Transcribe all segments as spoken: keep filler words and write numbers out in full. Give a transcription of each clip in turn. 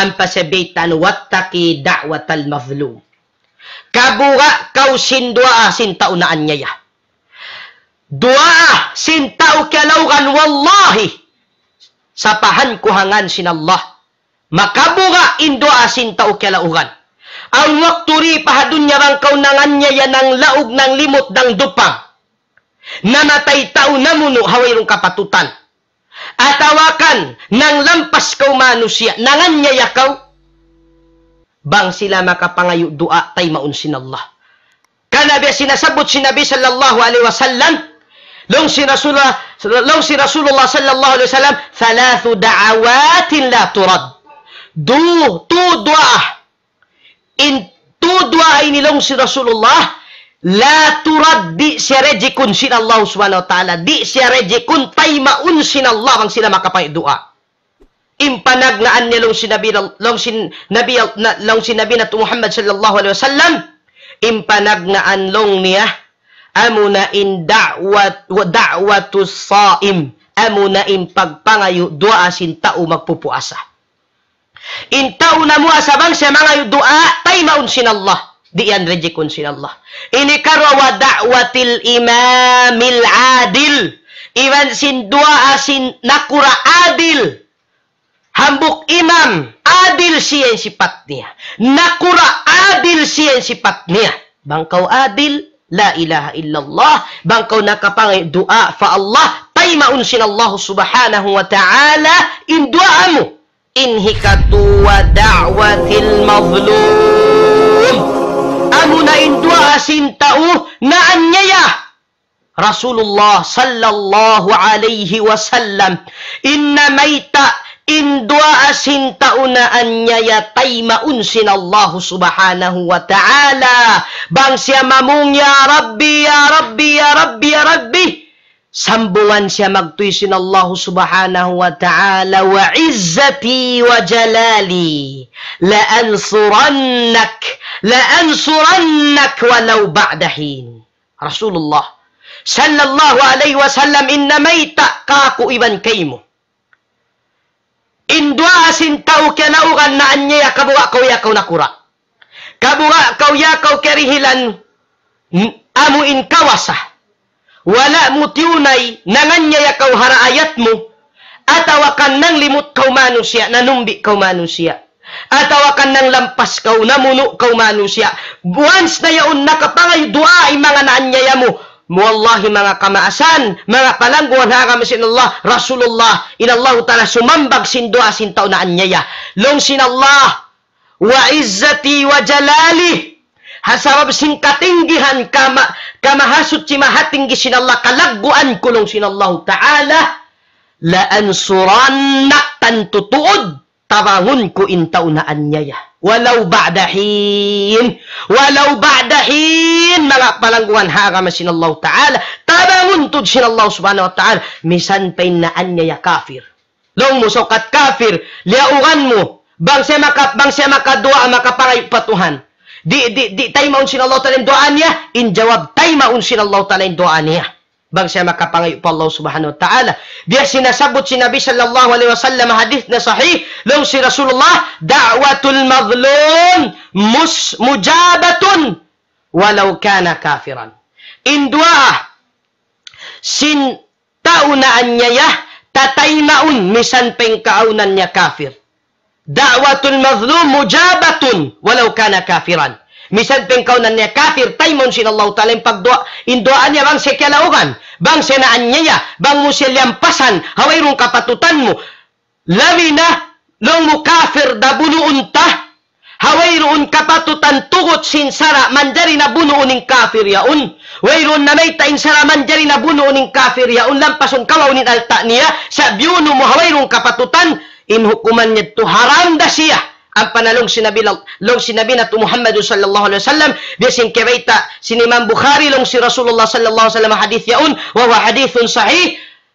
Ampa siya baytaan, واتق دعوة المظلوم. Kabuga' kaw sin duwaa sin tau naanyaya. Duwaa sin tau kiyalaugan, wallahi, sapahan ku ha ngan sin Allah, makabuga' in duwaa sin tau kiyalaugan. Awn waktu di pa ha dunya bang kaw nanganyaya, nanglaug, nanglimut, nangdupang, namatay tau namunu' ha wayruun kapatutan, atawa kan nanglampas kaw manusiya', nanganyaya kaw, bang sila makapangayu' duwaa, taymaun sin Allah. Karna' biya' sin nasabbut sin Nabi sallallahu alayhi wasallam, laung sin Rasulullah, laung sin Rasulullah sallallahu alayhi wasallam, ثلاث دعوات لا ترد. Du, tu duwaa. In tu duwaa ini, laung sin Rasulullah, لا ترد, di' siya reject-un sin Allah subhanahu wa ta'ala. Di' siya reject-un, taymaun sin Allah bang sila makapangayu' duwaa. In panagnaan niya, laung sin Nabi, laung sin Nabi, na, laung sin Nabi natu' Muhammad sallallahu alayhi wasallam, in panagnaan laung niya, amuna in da'wat, دعوة الصائم, amuna in pagpangayu' duwaa sin tau magpupuasa. In tau namuasa bang siya mangayu' duwaa, taymaun sin Allah. Di' yan reject-un sin Allah. Ini karuwa, ودعوة الإمام العادل. Iban sin duwaa sin nakura' adil. Hambuuk imam, adil siya in sipat niya. Nakura', adil siya in sipat niya. Bang kaw adil, لا إله إلا الله. Bang kaw nakapangayu' duwaa pa Allah, taymaun sin Allah subhanahu wa ta'ala in duwaa mu. In hikatu, ودعوة المظلوم. Amuna in duwaa sin tau naanyaya. Rasulullah sallallahu alayhi wasallam, in namayta' in duwaa sin tau naanyaya, taymaun sin Allah subhanahu wa ta'ala. Bang siya mamung, "Ya Rabbi, ya Rabbi, ya Rabbi, ya Rabbi." Sambungan siya magtuy sin Allah subhanahu wa ta'ala, وعزتي وجلالي لأنصرنك، لأنصرنك ولو بعد حين. Rasulullah sallallahu alayhi wasallam, in namayta' kāku' iban kaymu, in duwaa sin tau kiyalaugan naanyaya, kabuga' kaw ya kaw nakura'. Kabuga' kaw ya kaw karihilan, n-, amu in kawasa. Wala' mu tiyunay, nanganyaya kaw ha raayat mu, atawa kan nanglimut kaw manusiya', nanumbi' kaw manusiya', atawa kan nanglampas kaw, namunu' kaw manusiya'. Once na yaun nakapangayu' duwaa in manga naanyaya mu, wallahi, manga kamaasan, manga palangguan ha agama sin Allah, Rasulullah, in Allahu Ta'ala sumambag sin duwaa sin tau naanyaya. Laung sin Allah, وعزتي وجلالي. Ha sabab sin katinggihan, kama-, kamahasuchi mahatinggi sin Allah, kalagguan ku, laung sin Allahu Ta'ala, لأنصرنك, tantu tuud, tabangun ku in tau naanyaya. ولو بعد حين. ولو بعد حين, manga palangguan ha agama sin Allahu Ta'ala, tabangun tuud sin Allah subhanahu wa ta'ala, misan pa in naanyaya kafir. Laung mu, sukat kafir, liyaugan mu. Bang siya maka-, bang siya makaduwaa, makapangayu' pa Tuhan, di', di', di' taymaun sin Allah Ta'ala in duwaa niya? In jawab, taymaun sin Allah Ta'ala in duwaa niya. Bang siya makapangayu' pa Allah subhanahu wa ta'ala. Biya' sin nasabbut sin Nabi sallallahu alayhi wasallam, hadith na sahih, laung sin Rasulullah, دعوة المظلوم مس-، مجابة ولو كان كافرا. In duwaa sin tau naanyaya, tataymaun misan pa in kaawnan niya kafir. دعوة المظلوم مجابة ولو كان كافرا. Misan pa in kaawnan niya kafir, taymaun sin Allahu Ta'ala in pagduwaa, in duwaa niya bang siya kiyalaugan, bang siya naanyaya, bang mu siya liyampasan ha wayruun kapatutan mu. Labi na, laung mu kafir da bunuun ta, ha wayruun kapatutan, tugut sin sara', manjari na bunuun in kafir yaun. Wayruun namayta' in sara', manjari na bunuun in kafir yaun, lampasun kawaun in alta' niya, sa' biyunu' mu ha wayruun kapatutan, in hukuman niya yadtu haram da siya. Ampa na laung sin Nabi, laung sin Nabi natu' Muhammad sallallahu alayhi wasallam, biya' sin kiyabayta' sin Imam Bukhari, laung sin Rasulullah sallallahu alayhi wasallam, hadith yaun, وهو حديث صحيح,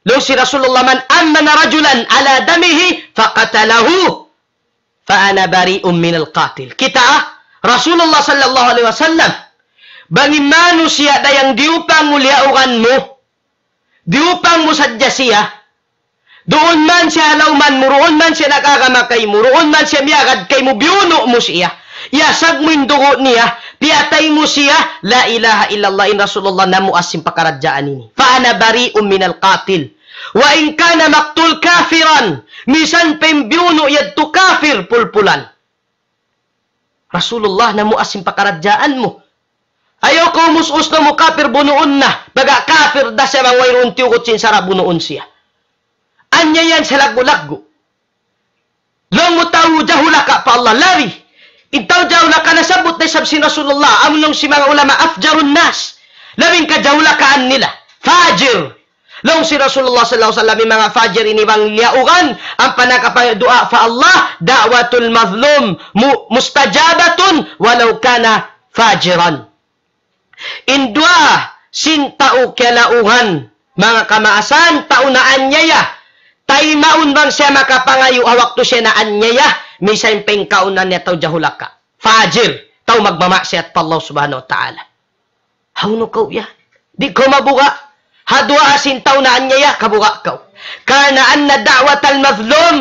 laung sin Rasulullah, من أمن رجلا على دمه فقتله فأنا بريء من القاتل. Kita', Rasulullah sallallahu alayhi wasallam, bang in manusiya' dayang diyupang mu liyaugan mu, diyupang mu sadja siya, Duun man siya ha lawman mu, duun man siya nag-agama kaymu, duun man siya miyagad kaymu, biyunu' mu siya. Iyasag mu in dugu' niya, piyatay mu siya, la ilaha illallah, in Rasulullah namuas sin pakaradjaan ini. فأنا بريء من القاتل وإن كان مقتول كافرا. Misan pa in biyunu' yadtu kafir, pulpulan. Rasulullah namuas sin pakaradjaan mu. Ayaw kaw umus-us na mu kafir bunuun na. Baga' kafir da siya bang wayruun tiyugut sin sara' bunuun siya. Anyayahan siya laggu'-laggu'. Laung mu tau jahulaka pa Allah, labi. In tau jahulaka nasabbut na isab sin Rasulullah, amu laung sin manga ulama أفجر الناس. Labi in kajahulakaan nila. Fajir. Laung sin Rasulullah sallallahu alayhi wasallam, in manga fajir ini bang liyaugan, ampa nakapaduwaa pa Allah, دعوة المظلوم م-, مستجابة ولو كان فاجرا. In duwaa sin tau kiyalaugan, manga kamaasan, tau naanyaya, taymaun bang siya makapangayu' ha waktu siya naanyaya, misan pa in kaun niya tau jahulaka. Fajir, tau magmamaksiyat pa Allah subhanahu wa ta'ala. Hawnu kaw yan? Di' kaw mabuga'. Ha duwaa sin tau naanyaya, kabuga' kaw. كما أن دعوة المظلوم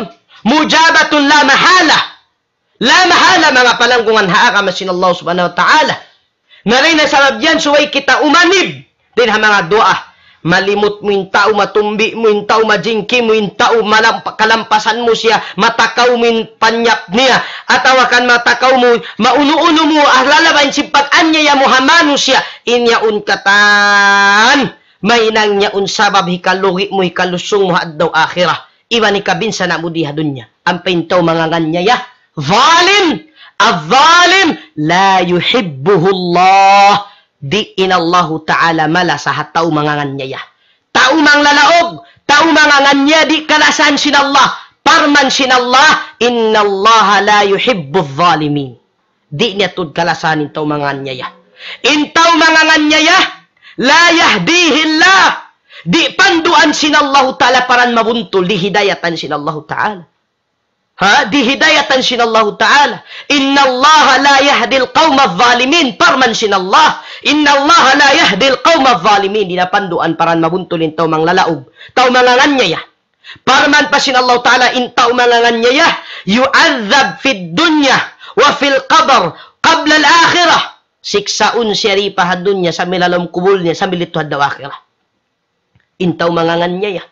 مستجابة لا محالة. La mahala, manga palanggungan ha agama sin Allah subhanahu wa ta'ala. Na dayn ha sabab yan, subay kita umanib dayn ha manga duwaa. Malimut mu in tau, matumbi mu in tau, majingki mu in tau, malampa-, kalampasan mu siya, matakaw mu in panyap niya, atawa kan matakaw mu, maunu-unu mu, ah, lalabahin sin pag-anyaya mu ha manusiya', in yaun katan, mahinang yaun sabab hikalugi' mu, hikalusung mu ha adlaw akhirat. Iban hikabinsana' mu di ha dunya. Ampa in tau manganganyaya, zalim, الظالم لا يحبه الله. Di' in Allahu Ta'ala malasa ha tau manganganyaya. Tau manglalaug, tau manganganyaya di' kalasahan sin Allah. Parman sin Allah, إن الله لا يحب الظالمين. Di' niya tuud kalasahan in tau manganganyaya. In tau manganganyaya, لا يهديه الله. Di' panduan sin Allahu Ta'ala paran mabuntul, di' hidayatan sin Allahu Ta'ala. Ha? Di' hidayatan sin Allahu Ta'ala. إن الله لا يهدي القوم الظالمين. Parman sin Allah. إن الله لا يهدي القوم الظالمين. Di' niya panduan paran mabuntul in tau manglalaug. Tau manganganyaya. Parman pa sin Allahu Ta'ala, in tau manganganyaya, يعذب في الدنيا وفي القبر قبل الآخرة. Siksaun siya di pa ha dunya, sambil ha lawm kubul niya, sambil didtu ha adlaw akhirat. In tau manganganyaya.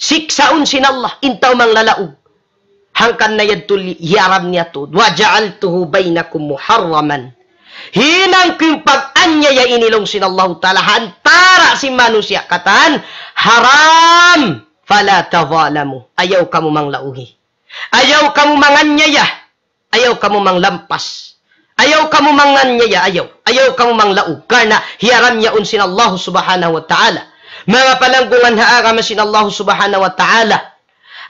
Siksaun sin Allah, in tau manglalaug. Hangkan na yadtu li-, hiyaram niya tuud. وجعلته بينكم محرما. Hinang ku in pag-anyaya ini laung sin Allahu Ta'ala ha antara' sin manusiya' katan haram. فلا تظالموا. Ayaw kamu manglaugi. Ayaw kamu manganyaya. Ayaw kamu manglampas. Ayaw kamu manganyaya. Ayaw. Ayaw kamu manglaug. Karna' hiyaram yaun sin Allah subhanahu wa ta'ala. Manga palanggungan ha agama sin Allah subhanahu wa ta'ala.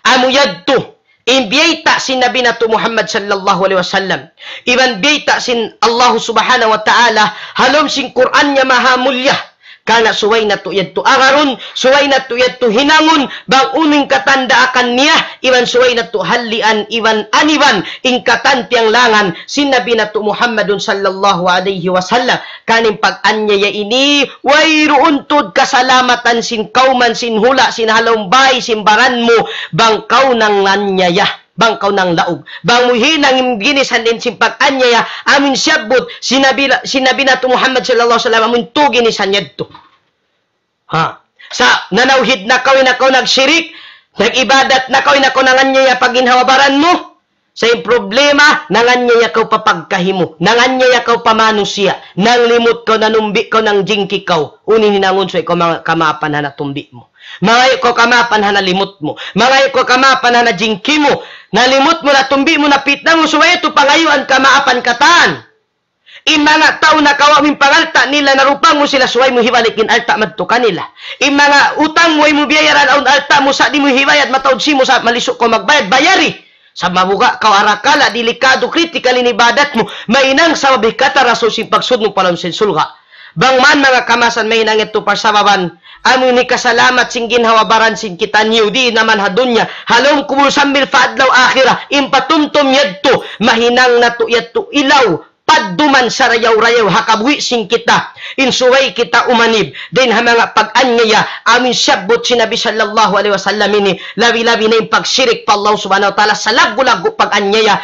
Amu yadtu in biyayta' sin Nabi natu' Muhammad sallallahu alayhi wasallam. Iban biyayta' sin Allah subhanahu wa ta'ala ha lawm sin Qur'an niya maha mulliya. Karna' subay natu' yadtu agarun, subay natu' yadtu hinangun, bang unu in katan daakan niya, iban subay natu' hallian, iban aniban, in katan tiyanglangan, sin Nabi natu' Muhammadun sallallahu alayhi wasallam. Karna' in pag-anyaya ini, wayruun tuud kasalamatan sin kawman, sin hula', sin ha lawm bay, sin baran mu, bang kaw nanganyaya, bang kaw nanglaug. Bang mu hinang in ginisan in sin pag-anyaya, amu in siyabbut, sin Nabi, sin Nabi natu' Muhammad sallallahu alayhi wasallam, amu in tū ginisan yadtu. Ha? Sa', nanawhid na kaw, di' na kaw nagshirik, nag-ibadat na kaw, di' na kaw nanganyaya pa ginhawa-baran mu. Sa' in problema, nanganyaya kaw pa pagkahi mu, nanganyaya kaw pa manusiya', nanglimut kaw, nanumbi kaw, nangjingki kaw, unu in hinangun, subay kaw manga-, kamaapan ha natumbi mu. Mangayu' kaw kamaapan ha nalimut mu. Mangayu' kaw kamaapan ha najingki mu. Nalimut mu, natumbi mu, napitna mu, subay yadtu pangayuan kamaapan katan. In manga tau nakawa' mu in pangalta' nila, narupang mu sila, subay mu hibalik in alta' madtu kanila. In manga utang mu, way mu biyayaran awn alta' mu, sa' di' mu hibayad, mataud simu sa' malisu' kaw magbayad, bayari. Sa' mabuga' kaw arakala', delikado, critical in ibadat mu, mahinang sabab hikatarasaw sin pagsud mu pa lawm sin surga'. Bang man manga kamaasan mahinang yadtu parsababan, amu in hikasalamat sin ginhawa-baran sin kitaniyu, di' na man ha dunya, ha lawm kubul sambil pa adlaw akhirat, in patumtum yadtu, mahinang natu' yadtu ilaw, padduman sarayaw-rayaw ha kabuhi' sin kita, in subay kita umanib dayn ha manga pag-anyaya, amu in siyabbut sin Nabi sallallahu alayhi wasallam ini, labi-labi na in pagsirik pa Allah subhanahu wa ta'ala, salaggu'-laggu' pag-anyaya.